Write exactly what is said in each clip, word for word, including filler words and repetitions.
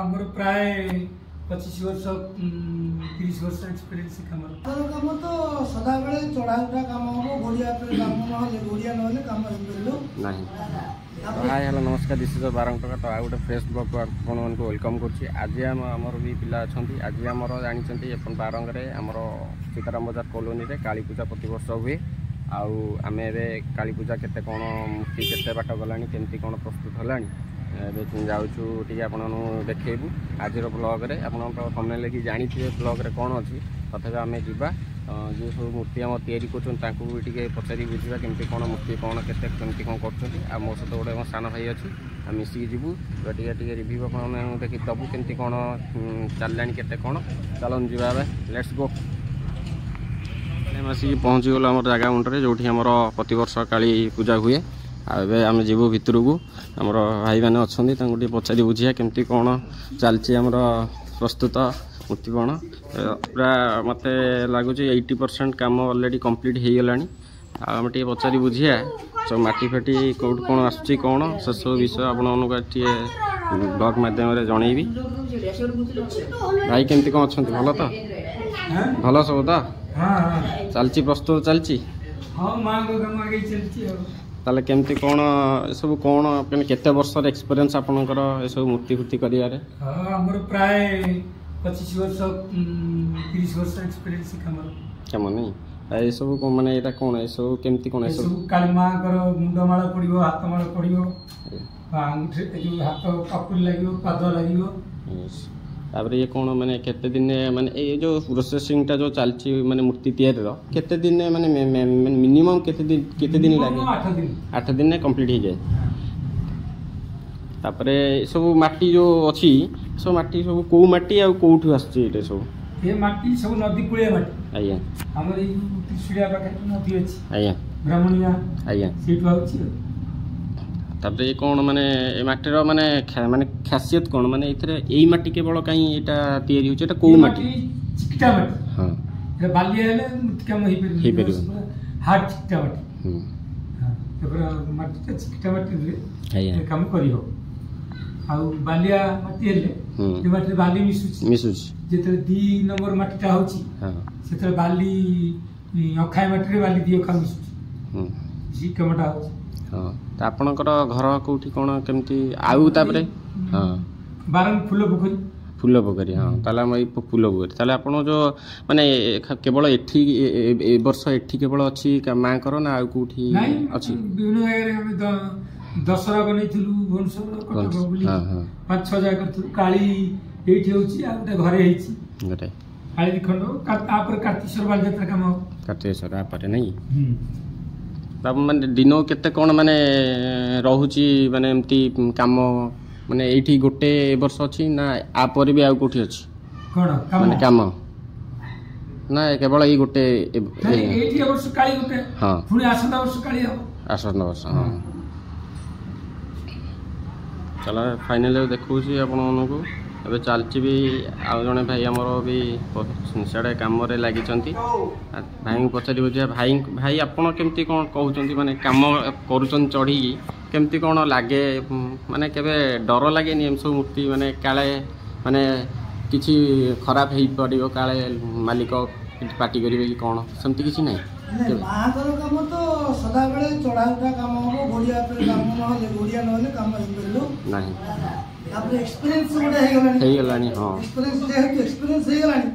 ଆମର ପ୍ରାୟ ପଚିଶ ବର୍ଷ ତିରିଶ ବର୍ଷ ଏକ୍ସପିରିଏନ୍ସ କାମର। ଆମର କାମ ତ ସଦାବେଳେ ଚଢ଼ା ଉଠା କାମ ହବ। ଗୋଡ଼ିଆ ଉପରେ କାମ ନହେଲେ, ଗୋଡ଼ିଆ ନହେଲେ କାମ ହେଇପାରିବ ନାହିଁ। ହାଇ, ହ୍ୟାଲୋ, ନମସ୍କାର, this is Barang ଟଙ୍କା। ତ ଆଉ ଗୋଟେ ଫ୍ରେଶ୍ ବ୍ଲଗ୍କୁ ଆପଣମାନଙ୍କୁ welcome କରୁଛି। ଆଜି ଆମ ଆମର ବି ପିଲା ଅଛନ୍ତି। ଆଜି ଆମର ଜାଣିଛନ୍ତି ଆପଣ, ବାରଙ୍ଗରେ ଆମର ସୀତାରାମ ବଜାର କଲୋନୀରେ କାଳୀ ପୂଜା ପ୍ରତିବର୍ଷ ହୁଏ। ଆଉ ଆମେ ଏବେ କାଳୀ ପୂଜା କେତେ କ'ଣ, ମୂର୍ତ୍ତି କେତେ ବାଟ ଗଲାଣି, କେମିତି କ'ଣ ପ୍ରସ୍ତୁତ ହେଲାଣି, ଏବେ ଯାଉଛୁ ଟିକେ ଆପଣଙ୍କୁ ଦେଖେଇବୁ ଆଜିର ବ୍ଲଗ୍ରେ। ଆପଣ ତ କମେଣ୍ଟ ଲେଖି ଜାଣିଥିବେ ବ୍ଲଗ୍ରେ କ'ଣ ଅଛି। ତଥାପି ଆମେ ଯିବା, ଯେଉଁ ସବୁ ମୂର୍ତ୍ତି ଆମର ତିଆରି କରୁଛନ୍ତି ତାଙ୍କୁ ବି ଟିକେ ପଚାରି ବୁଝିବା କେମିତି କ'ଣ ମୂର୍ତ୍ତି କ'ଣ କେତେ କେମିତି କ'ଣ କରୁଛନ୍ତି। ଆଉ ମୋ ସହିତ ଗୋଟେ ମୋ ସାନ ଭାଇ ଅଛି, ଆମେ ମିଶିକି ଯିବୁ। ଟିକେ ଟିକେ ରିଭ୍ୟୁ ଆପଣମାନଙ୍କୁ ଦେଖି ଦେବୁ କେମିତି କ'ଣ ଚାଲିଲାଣି, କେତେ କ'ଣ। ଚାଲନ୍ତୁ ଯିବା ଏବେ, let's go. ଆମେ ଆସିକି ପହଞ୍ଚିଗଲୁ ଆମର ଜାଗା ମୁଣ୍ଡରେ, ଯେଉଁଠି ଆମର ପ୍ରତିବର୍ଷ କାଳୀ ପୂଜା ହୁଏ। ଆଉ ଏବେ ଆମେ ଯିବୁ ଭିତରକୁ। ଆମର ଭାଇମାନେ ଅଛନ୍ତି, ତାଙ୍କୁ ଟିକେ ପଚାରି ବୁଝିବା କେମିତି କ'ଣ ଚାଲିଛି ଆମର ପ୍ରସ୍ତୁତ ମୂର୍ତ୍ତି କ'ଣ। ପୁରା ମୋତେ ଲାଗୁଛି ଏଇଟି ପରସେଣ୍ଟ କାମ ଅଲରେଡ଼ି କମ୍ପ୍ଲିଟ୍ ହେଇଗଲାଣି। ଆଉ ଆମେ ଟିକେ ପଚାରି ବୁଝିବା ସବୁ ମାଟି ଫାଟି କେଉଁଠୁ କ'ଣ ଆସୁଛି କ'ଣ, ସେସବୁ ବିଷୟ ଆପଣମାନଙ୍କୁ ଟିକେ ବ୍ଲଗ୍ ମାଧ୍ୟମରେ ଜଣେଇବି। ଭାଇ, କେମିତି କ'ଣ ଅଛନ୍ତି? ଭଲ ତ? ଭଲ ସବୁ ତ ଚାଲିଛି, ପ୍ରସ୍ତୁତ ଚାଲିଛି? ହଁ, ମାଆଙ୍କ କାମ ଆଗେଇ ଚାଲିଛି। ଆଉ ତାହେଲେ କେମିତି କ'ଣ ଏସବୁ କ'ଣ, ମାନେ କେତେ ବର୍ଷର ଏକ୍ସପିରିଏନ୍ସ ଆପଣଙ୍କର ଏସବୁ ମୂର୍ତ୍ତି ଫୂର୍ତ୍ତି କରିବାରେ? ହଁ, ଆମର ପ୍ରାୟ ପଚିଶ ବର୍ଷ ତିରିଶ ବର୍ଷ ଏକ୍ସପିରିଏନ୍ସ କାମର। କାମ ନାଇଁ। ଏସବୁ ମାନେ ଏଇଟା କ'ଣ, ଏସବୁ କେମିତି କ'ଣ? ଏସବୁ କାଳୀ ମାଆଙ୍କର ମୁଣ୍ଡମାଳ ପଡ଼ିବ, ହାତମାଳ ପଡ଼ିବ, ଆଙ୍ଗୁଠି ଯୋଉ ହାତ ପାପୁଲି ଲାଗିବ, ପାଦ ଲାଗିବ। ତାପରେ ଇଏ କ'ଣ, ମାନେ କେତେ ଦିନ, ମାନେ ଏଇ ଯୋଉ ପ୍ରୋସେସିଂଟା ଯୋଉ ଚାଲିଛି, ମାନେ ମୂର୍ତ୍ତି ତିଆରିର କେତେ ଦିନ, ମାନେ ମିନିମମ୍ କେତେ ଦିନ କେତେ ଦିନ ଲାଗେ? ଆଠ ଦିନ। ଆଠ ଦିନରେ କମ୍ପ୍ଲିଟ୍ ହେଇଯାଏ। ତାପରେ ଏସବୁ ମାଟି ଯୋଉ ଅଛି, ସବୁ ମାଟି ସବୁ କୋଉ ମାଟି ଆଉ କୋଉଠୁ ଆସୁଛି ଏଇଟା ସବୁ? ଏ ମାଟି ସବୁ ନଦୀ କୂଳିଆ ମାଟି। ଆଜ୍ଞା ଆମର ଏଇ ଯୋଉ ତ୍ରିଶୁଳିଆ ପାଖରେ ନଦୀ ଅଛି, ଆଜ୍ଞା ବ୍ରାହ୍ମଣିଆ, ଆଜ୍ଞା ସେଇଠୁ ଆଉଛି। ଆଉ ତାପରେ ଏ କ'ଣ, ମାନେ ଏ ମାଟିର ମାନେ ମାନେ ଖାସିୟତ କ'ଣ, ମାନେ ଏଥିରେ ଏଇ ମାଟି କେବଳ କାହିଁ ଏଇଟା ତିଆରି ହେଉଛି? ଏଇଟା କୋଉ ମାଟି? ଚିକିଟା ମାଟି। ହଁ ଏଟା ବାଲିଆ ହେଲେ ମୂର୍ତ୍ତି କାମ ହେଇପାରିବ? ହେଇପାରିବ। ହାର୍ଡ ଚିକିଟା ମାଟି। ହୁଁ ତାପରେ ମାଟିଟା ଚିକିଟା ମାଟିରେ ଆଜ୍ଞା କାମ କରିବ। ଆଉ ବାଲିଆ ମାଟି ହେଲେ ଏ ମାଟିରେ ବାଲି ମିଶୁଛି। ମିଶୁଛି। ଯେତେବେଳେ ଦି ନମ୍ବର ମାଟିଟା ହଉଛି, ସେତେବେଳେ ବାଲି ଅଖାଏ ମାଟିରେ ବାଲି ଦି ଅଖା ମିଶୁଛି, ସେ କାମଟା ହଉଛି। ହଁ, ତ ଆପଣଙ୍କର ଘର କୋଉଠି, କ'ଣ କେମିତି? ଆଉ ତାପରେ ହଁ ବାରଙ୍ଗ ଫୁଲ ପୋଖରୀ। ଫୁଲ ପୋଖରୀ, ହଁ। ତାହେଲେ ଆମ ଏଇ ଫୁଲ ପୋଖରୀ। ତାହେଲେ ଆପଣ ଯେଉଁ ମାନେ କେବଳ ଏଠି ଏ ବର୍ଷ ଏଠି କେବଳ ଅଛି ମାଆଙ୍କର ନା ଆଉ କୋଉଠି ଅଛି? ବିଭିନ୍ନ ଜାଗାରେ ଆମେ ଦଶହରା ବନେଇଥିଲୁ, ଭୁବନେଶ୍ୱର, କଟକ ବୋଲି ପାଞ୍ଚ ଛଅ ଜାଗା କରିଥିଲୁ। କାଳୀ ଏଇଠି ହଉଛି, ଆଉ ଗୋଟେ ଘରେ ହେଇଛି ଗୋଟେ କାଳୀ ଖଣ୍ଡ। ତାପରେ କାର୍ତ୍ତିକେଶ୍ୱର ବାଲିଯାତ୍ରା କାମ। କାର୍ତ୍ତିକେଶ୍ୱର ତାପରେ ନାଇଁ? ମାନେ ଦିନକୁ କେତେ କ'ଣ ମାନେ ରହୁଛି, ମାନେ ଏମିତି କାମ, ମାନେ ଏଇଠି ଗୋଟେ ଏ ବର୍ଷ ଅଛି ନା ଆ ପରେ ବି ଆଉ କୋଉଠି ଅଛି? କ'ଣ? ମାନେ କାମ ନା କେବଳ ଏଇ ଗୋଟେ? ଏଇଠି ଏ ବର୍ଷ କାଳୀ ଗୋଟେ, ହଁ, ପୁଣି ଆସନ୍ତା ବର୍ଷ କାଳୀ ହବ। ଆସନ୍ତା ବର୍ଷ, ହଁ। ଚାଲ, ଫାଇନାଲି ଦେଖାଉଛି ଆପଣମାନଙ୍କୁ। ଏବେ ଚାଲିଛି ବି। ଆଉ ଜଣେ ଭାଇ ଆମର ବି ସିଆଡ଼େ କାମରେ ଲାଗିଛନ୍ତି। ଭାଇଙ୍କୁ ପଚାରିବୁ ଯେ ଭାଇ, ଭାଇ ଆପଣ କେମିତି କ'ଣ କହୁଛନ୍ତି, ମାନେ କାମ କରୁଛନ୍ତି ଚଢ଼ିକି, କେମିତି କ'ଣ ଲାଗେ? ମାନେ କେବେ ଡର ଲାଗେନି ଏମିତି ସବୁ ମୂର୍ତ୍ତି, ମାନେ କାଳେ ମାନେ କିଛି ଖରାପ ହେଇପାରିବ, କାଳେ ମାଲିକ ପାଟି କରିବେ କି କ'ଣ, ସେମିତି କିଛି ନାହିଁ? ମାଆଙ୍କର କାମ ତ ସଦାବେଳେ ଚଢ଼ା ଉଠା କାମ ହବ। ଗୋଡ଼ିଆ ଉପରେ କାମ ନହେଲେ, ଗୋଡ଼ିଆ ନହେଲେ କାମ ହେଇପାରିବ ନାହିଁ। ତାପରେ ଏକ୍ସପିରିଏନ୍ସ ଗୋଟେ ହେଇଗଲାଣି। ହେଇଗଲାଣି, ହଁ। ଏକ୍ସପିରିଏନ୍ସ ଯେହେତୁ ଏକ୍ସପିରିଏନ୍ସ ହେଇଗଲାଣି,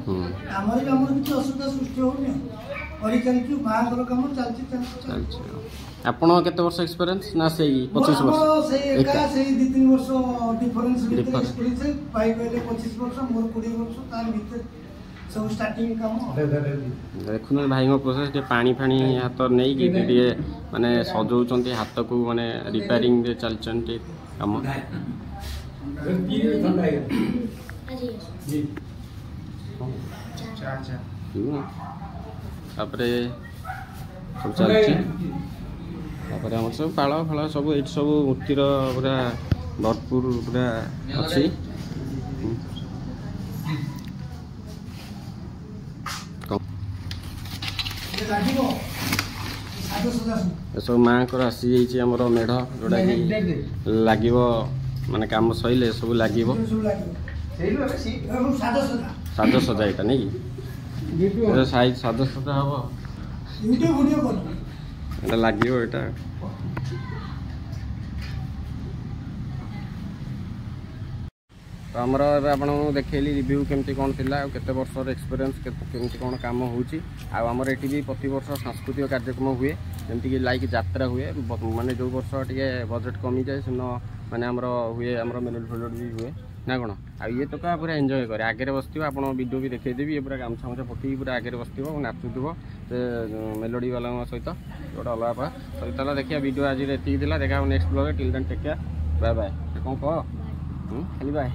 କାମରେ ବି ଆମର କିଛି ଅସୁବିଧା ସୃଷ୍ଟି ହଉନି। କରି ଚାଲିଛୁ, ମାଆଙ୍କର କାମ ଚାଲିଛି। ଚାଲିଛି। ଆପଣ କେତେ ବର୍ଷ ଏକ୍ସପିରିଏନ୍ସ ନା ସେଇ ପଚିଶ ବର୍ଷ? ସେଇ ଏକା, ସେଇ ଦୁଇ ତିନି ବର୍ଷ ଡିଫରେନ୍ସ ଭିତରେ ଏକ୍ସପିରିଏନ୍ସ। ଭାଇ କହିଲେ ପଚିଶ ବର୍ଷ, ମୋର କୋଡ଼ିଏ ବର୍ଷ, ତାର ଭିତରେ ସବୁ ଷ୍ଟାର୍ଟିଂ କାମ। ଦେଖୁଛନ୍ତି ଭାଇଙ୍କ ପ୍ରୋସେସ୍, ଟିକେ ପାଣି ଫାଣି ହାତ ନେଇକି ଟିକେ ମାନେ ସଜଉଛନ୍ତି ହାତକୁ, ମାନେ ରିପେୟାରିଂରେ ଚାଲିଛନ୍ତି କାମ। ତାପରେ ସବୁ ଚାଲିଛି। ତାପରେ ଆମର ସବୁ ପାଳ ଫାଳ ସବୁ ଏଇଠି ସବୁ ମୂର୍ତ୍ତିର ପୁରା ଭରପୁର ପୁରା ଅଛି। ଏସବୁ ମାଆଙ୍କର ଆସିଯାଇଛି ଆମର ମେଢ଼, ଯୋଉଟାକି ଲାଗିବ, ମାନେ କାମ ସରିଲେ ସବୁ ଲାଗିବ। ସବୁ ଲାଗିବ। ଏବଂ ସାଜସଜା ସାଜସଜା ଏଇଟା ନାଇଁ କି ଏଇଟା ସାଇଜ ସାଜସଜା ହବ ଭିଡ଼ିଓ ଭିଡ଼ିଓ କର ଏଇଟା ଲାଗିବ ଏଇଟା ତ ଆମର ଏବେ ଆପଣଙ୍କୁ ଦେଖେଇଲି ରିଭ୍ୟୁ କେମିତି କ'ଣ ଥିଲା ଆଉ କେତେ ବର୍ଷର ଏକ୍ସପିରିଏନ୍ସ କେମିତି କ'ଣ କାମ ହେଉଛି ଆଉ ଆମର ଏଠି ବି ପ୍ରତିବର୍ଷ ସାଂସ୍କୃତିକ କାର୍ଯ୍ୟକ୍ରମ ହୁଏ ଯେମିତିକି ଲାଇକ୍ ଯାତ୍ରା ହୁଏ ବ- ମାନେ ଯେଉଁ ବର୍ଷ ଟିକେ ବଜେଟ୍ କମିଯାଏ ସେଦିନ ମାନେ ଆମର ହୁଏ ଆମର ମେଲୋଡ଼ି ଫେଲୋଡ଼ି ବି ହୁଏ ନା କ'ଣ ଆଉ ଇଏ ତ ପୁରା ଏନ୍ଜୟ କରେ ଆଗରେ ବସିଥିବ ଆପଣ ଭିଡ଼ିଓ ବି ଦେଖେଇଦେବି ଇଏ ପୁରା ଗାମୁଛା ଫାମୁଛା ପକେଇକି ପୁରା ଆଗରେ ବସିଥିବ ଆଉ ନାଚୁଥିବ ସେ ମେଲୋଡ଼ି ବାଲାଙ୍କ ସହିତ ଗୋଟେ ଅଲଗା ପ୍ରକାର ସହିତ ହେଲା ଦେଖିବା ଭିଡ଼ିଓ ଆଜିର ଏତିକି ଥିଲା ଦେଖା next ବ୍ଲଗ୍ରେ till then take care bye bye କ'ଣ କହ ହୁଁ ଖାଲି ବାଏ